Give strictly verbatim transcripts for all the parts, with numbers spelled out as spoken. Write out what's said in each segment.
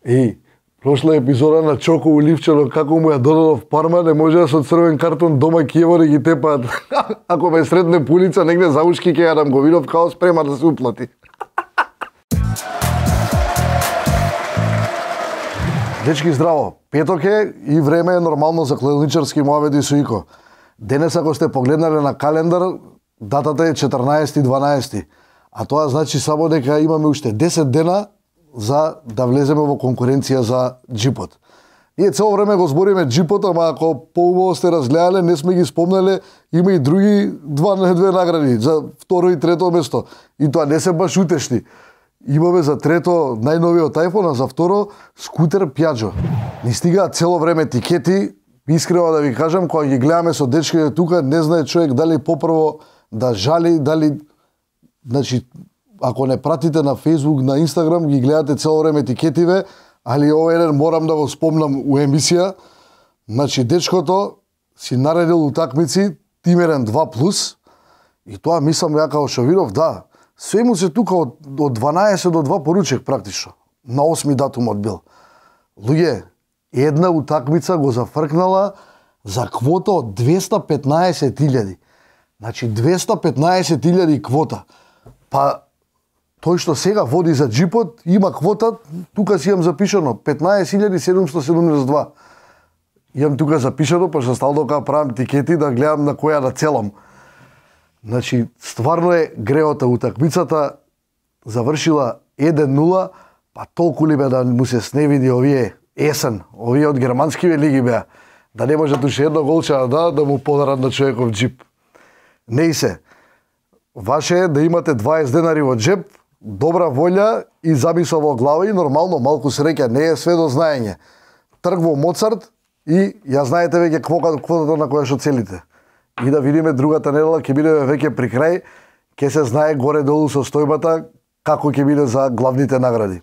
Еј, прошла епизода на Чоко Уливчано, како му ја додадов Парма, не може да со црвен картон дома Киевори ги тепаат. Ако ме сретне по улица, негде за ушки ќе јадам, го видов као спрема да се уплати. Дечки, здраво! Петок е и време е нормално за кладилничарски муабети со Ико. Денес, ако сте погледнале на календар, датата е четрнаесети дванаесети. А тоа значи само дека имаме уште десет дена за да влеземе во конкуренција за джипот. Ние цело време го збориме джипот, ама ако поубаво сте разгледале, не сме ги спомнале, има и други два, две награди за второ и трето место. И тоа не се баш утешни. Имаме за трето најновиот iPhone, а за второ скутер Piaggio. Ни стигаат цело време тикети, искрено да ви кажам, кога ги гледаме со дечките тука, не знае човек дали попрво да жали, дали... Значи, ако не пратите на Facebook, на Instagram, ги гледате цело време тикетиве, али овој еден морам да го спомнам у емисија. Значи, дечкото си наредил утакмици Тимерен два плюс, и тоа мислам ја као што видов, да, све му се тука од, од дванаесет до два поручек практично. На осми датум одбил. Луѓе, една утакмица го зафркнала за квота од двеста петнаесет илјади. Значи, двеста петнаесет илјади квота. Па, тој што сега води за джипот, има квота, тука си имам запишано, петнаесет илјади седумстотини седумдесет и два. Имам тука запишано, па што стално кога правам тикети, да гледам на која да целам. Значи, стварно е греота утакмицата, завршила еден нула, па толку ли бе да му се сневиди овие есен, овие од германскиве лиги беа, да не може туше едно голче да, да му подарат на човеков джип. Не и се. Ваше е да имате дваесет денари во джеп, добра волја и замисла во глава и нормално малку среќа, не е све до знаење. Трг во Моцарт и ја знаете веќе квотата на која што целите. И да видиме другата недела, ќе бидеме веќе при крај, ќе се знае горе-долу со стојбата како ќе биде за главните награди.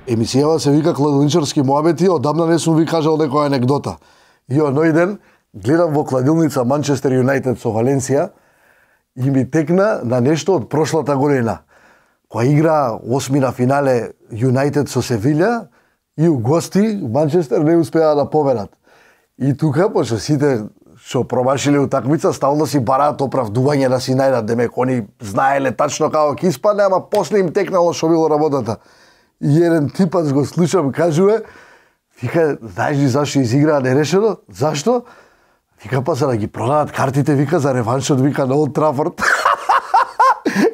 Емисијава се вика Кладилничарски муабети, одамна не сум ви кажал некоја анегдота. И оној ден гледам во кладилница Манчестер Юнајтед со Валенсија и ми текна на нешто од прошлата година. Која игра осми на финале Юнајтед со Севилја и у гости Манчестер не успеа да победат. И тука, пошто сите што промашиле утакмица, стално си бараат оправдување да си најдат, демек они знаеле тачно како ќе испадне, ама после им текнало што било работата. И еден типац го слушам, кажува, вика, знаеш ли зашто изиграа нерешено? Зашто? Вика, па за да ги продадат картите, вика, за реваншот, вика, на Олд Трафорд.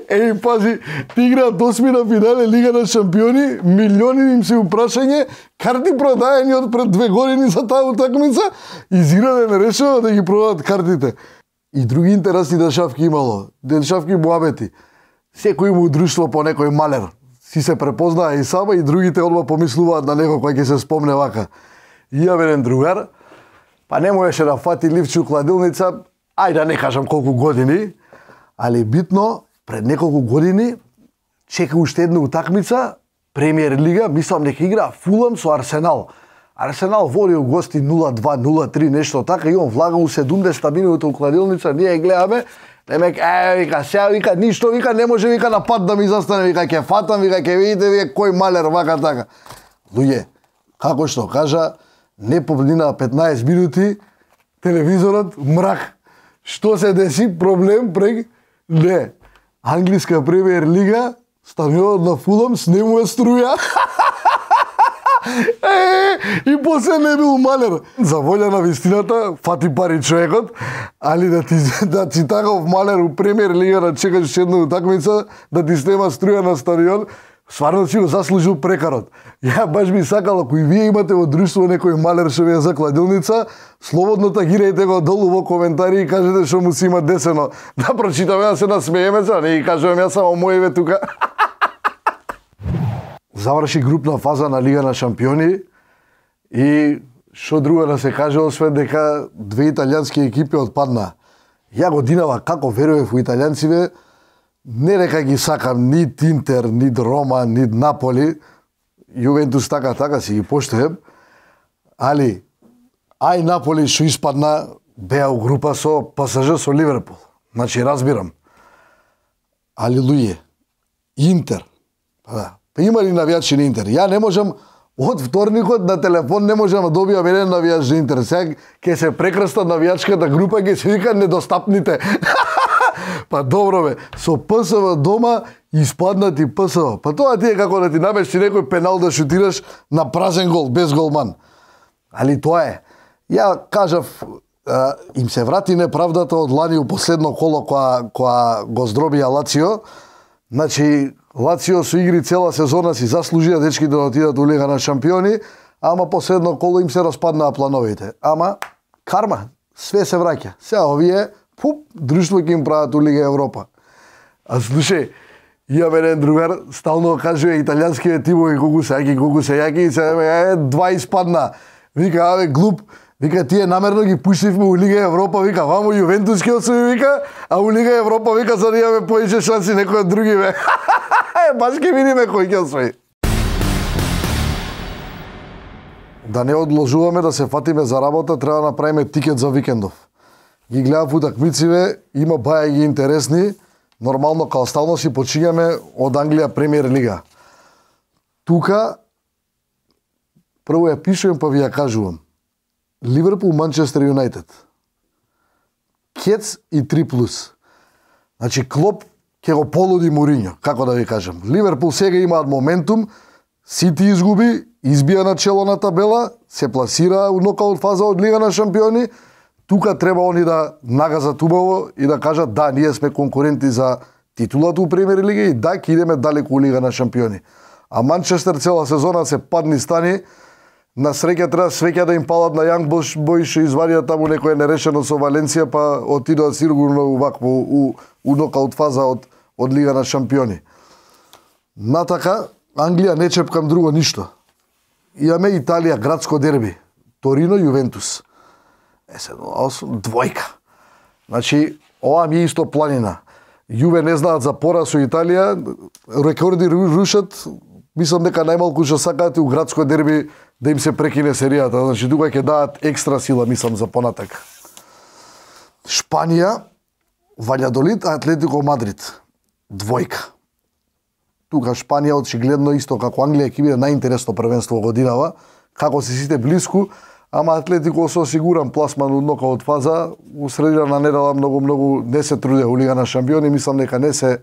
Еј, пази, ти играат осми на финале Лига на шампиони, милиони им се упрашање, карти продаени од пред две години за таа утакмица, изиграле нерешено да ги продадат картите. И други интересни дешавки имало, дешавки муабети. Секој му друштво по некој малер. Си се препознаа и сама и другите одма помислуваат на некој кој ќе се спомне вака. И ја еден другар, па не можеше да фати ливче у кладилница, ај да не кажам колку години, али битно, пред неколку години, чека уште една утакмица, Премиер Лига, мислам дека игра Фулам со Арсенал. Арсенал води у гости нула два нула три, нешто така, и он влага у седумдесета минута у кладилница, ние гледаме, демек, е, вика, сега, вика, ништо, вика, не може, вика, на пат да ми застане, вика, ќе фатам, вика, ќе видите, вика, кој малер, вака, така. Луѓе, како што кажа, не помнина петнаесет минути, телевизорот мрак. Што се деси? Проблем прег? Не. Англиска Премиер Лига, стадионот на Фулам снемува струја. Е, и после не бил малер. За волја на вистината, фати пари човекот, али да ти, да ти таков малер у Премиер Лига да чекаш една утакмица, да ти снема струја на стадион, стварно си го заслужил прекарот. Ја баш би сакал, ако и вие имате во друштво некој малер што ви е за кладилница, слободно тагирајте го долу во коментари и кажете што му си има десено. Да прочитаме, да се насмееме, за не ги кажувам ја само моеве тука. Заврши групна фаза на Лига на шампиони и што друго да се каже, освен дека две италијански екипи отпадна. Ја годинава како верував во италијанциве, не дека ги сакам нит Интер, нит Рома, нит Наполи, Јувентус така така си ги поштојам, али ај Наполи што испадна беа у група со ПСЖ со Ливерпул. Значи разбирам. Али луѓе, Интер, Па да. Па има ли навијачи на Интер? Ја не можам од вторникот на телефон не можам да добијам еден навијач на Интер. Сега ќе се прекраста навијачката група, ќе се вика недостапните. Па добро бе, со ПСВ дома испаднати ПСВ. Па тоа ти е како да ти намести некој пенал да шутираш на празен гол, без голман. Али тоа е. Ја кажав, а, им се врати неправдата од лани у последно коло која, која го здробија Лацио. Значи, Лацио со игри цела сезона си заслужија дечките да отидат у Лига на шампиони, ама последно коло им се распаднаа плановите. Ама, карма, све се враќа. Сега овие, пуп, друштво ќе им прават у Лига Европа. А слушај, имам еден другар, стално кажува италијанските тимови колку се јаки, колку се јаки, и се е, два испадна. Вика, абе, глуп, вика, тие намерно ги пуштивме у Лига Европа, вика, вамо Јувентус ке освои, вика, а у Лига Европа, вика, за да имаме поише шанси некој од други, бе. Баш ке видиме кој ќе освои. Да не одложуваме да се фатиме за работа, треба да направиме тикет за викендов. Ги гледав утакмициве, има баја ги интересни, нормално као стално си почињаме од Англија Премиер Лига. Тука, прво ја пишувам па ви ја кажувам. Ливерпул Манчестер Юнайтед. Кец и три плюс. Значи Клоп ќе го полуди Моринјо, како да ви кажам. Ливерпул сега имаат моментум, Сити изгуби, избија на чело на табела, се пласира у нокаут фаза од Лига на шампиони. Тука треба они да нагазат убаво и да кажат да, ние сме конкуренти за титулата у Премиер Лига и да, ќе идеме далеку у Лига на шампиони. А Манчестер цела сезона се падни стани. На среќа треба свеќа да им палат на Јанг Бойш, извадија таму некој нерешено со Валенција, па отидоа сигурно вакво у, у нокаут фаза од, од Лига на шампиони. Натака, Англија не чепкам друго ништо. Имаме Италија, градско дерби. Торино, Јувентус. Е, се, двојка. Значи, ова ми е исто планина. Јуве не знаат за пора со Италија, рекорди рушат, мислам дека најмалку што сакаат у градско дерби да им се прекине серијата. Значи, тука ќе дадат екстра сила, мислам, за понатак. Шпанија, Ваљадолид, Атлетико Мадрид. Двојка. Тука Шпанија очигледно исто како Англија ќе биде најинтересно првенство годинава, како се сите блиску, ама Атлетико со сигурен пласман од нокаут фаза, у средина на недела многу многу не се труде у Лига на шампиони, мислам дека не се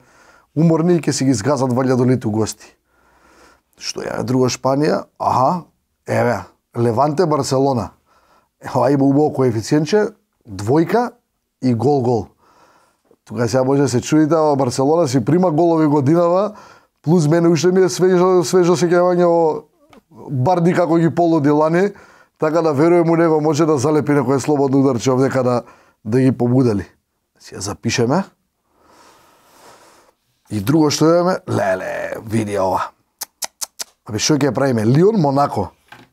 уморни и ќе си ги згазат Ваљадолид у гости. Што е друго Шпанија? Аха, еве, Леванте Барселона. Ова има убаво коефициентче, двојка и гол-гол. Тука сега може да се чудите, ама Барселона си прима голови годинава, плюс мене уште ми е свежо, свежо сеќавање о Барди како ги полуди лани, така да верувам у него може да залепи некој слободно ударче овдека да, да ги побудали. Си ја запишеме. И друго што имаме, леле, види ова. Абе, што ќе правиме? Лион, Монако.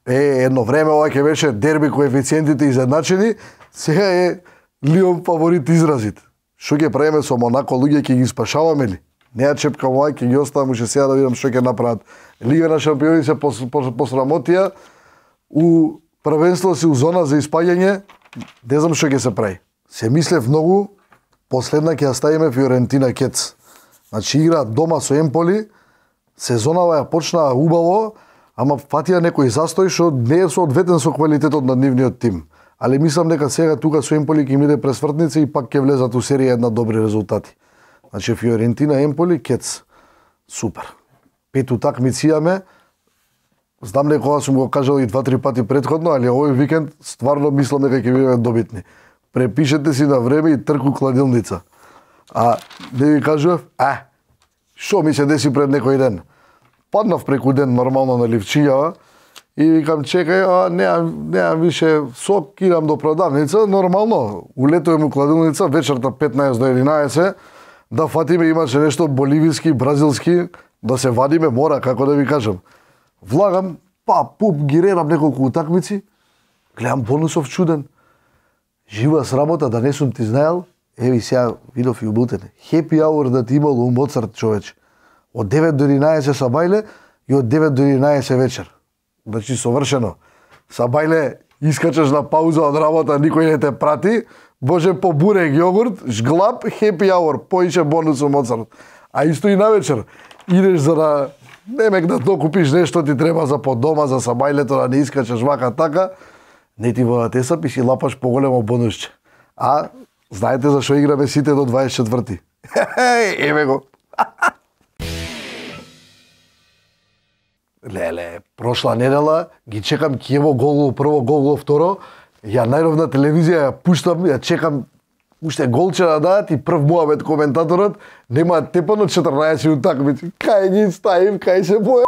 Е, едно време ова ќе беше дерби коефициентите изедначени, сега е Лион фаворит изразит. Што ќе правиме со Монако, луѓе ќе ги спашаваме ли? Не ја чепкам ова, ќе ги оставам уште сега да видам што ќе направат. Лига на шампиони се посрамотија, у првенство си у зона за испаѓање, не знам што ќе се прави. Се мислев многу, последна ќе ја ставиме Фиорентина Кец. Значи играат дома со Емполи, сезонава ја почнаа убаво, ама фатија некој застој што не е соодветен со квалитетот на нивниот тим. Али мислам дека сега тука со Емполи ќе им иде пресвртница и пак ќе влезат у серија една добри резултати. Значи Фиорентина, Емполи, Кец. Супер. Пет утакмици имаме. Знам дека ова сум го кажал и два-три пати претходно, али овој викенд стварно мислам дека ќе бидеме добитни. Препишете си на време и трку кладилница. А не ви кажував, а, што ми се деси пред некој ден? Паднав преку ден нормално на ливчињава и викам чекај, а неам, неам више сок, идам до продавница, нормално, улетувам у кладилница вечерта петнаесет до единаесет, да фатиме имаше нешто боливиски, бразилски, да се вадиме мора, како да ви кажам. Влагам, па, пуп, ги рерам неколку утакмици, гледам бонусов чуден. Жива срамота, да не сум ти знаел, еви сега видов и убутене. Хепи аур да ти имало у Моцарт, човече. Од девет до единаесет са бајле и од девет до единаесет вечер. Значи, совршено. Са бајле, искачаш на пауза од работа, никој не те прати, боже, по бурек, јогурт, жглап, хепи аур, поише бонус у Моцарт. А исто и на вечер, идеш за да немек да докупиш нешто ти треба за под дома, за сабајлето, да не искачеш вака така, не ти водат есап и си лапаш поголемо бонусче. А знаете за што играме сите до дваесет и четврти? Еве го. Леле, прошла недела ги чекам Киево гол прво, гол второ. Ја најдов на телевизија, ја пуштам, ја чекам уште голче да дадат и прв муабет коментаторот нема тепано четрнаесет утакмици. Кај ги ставим, кај се боја.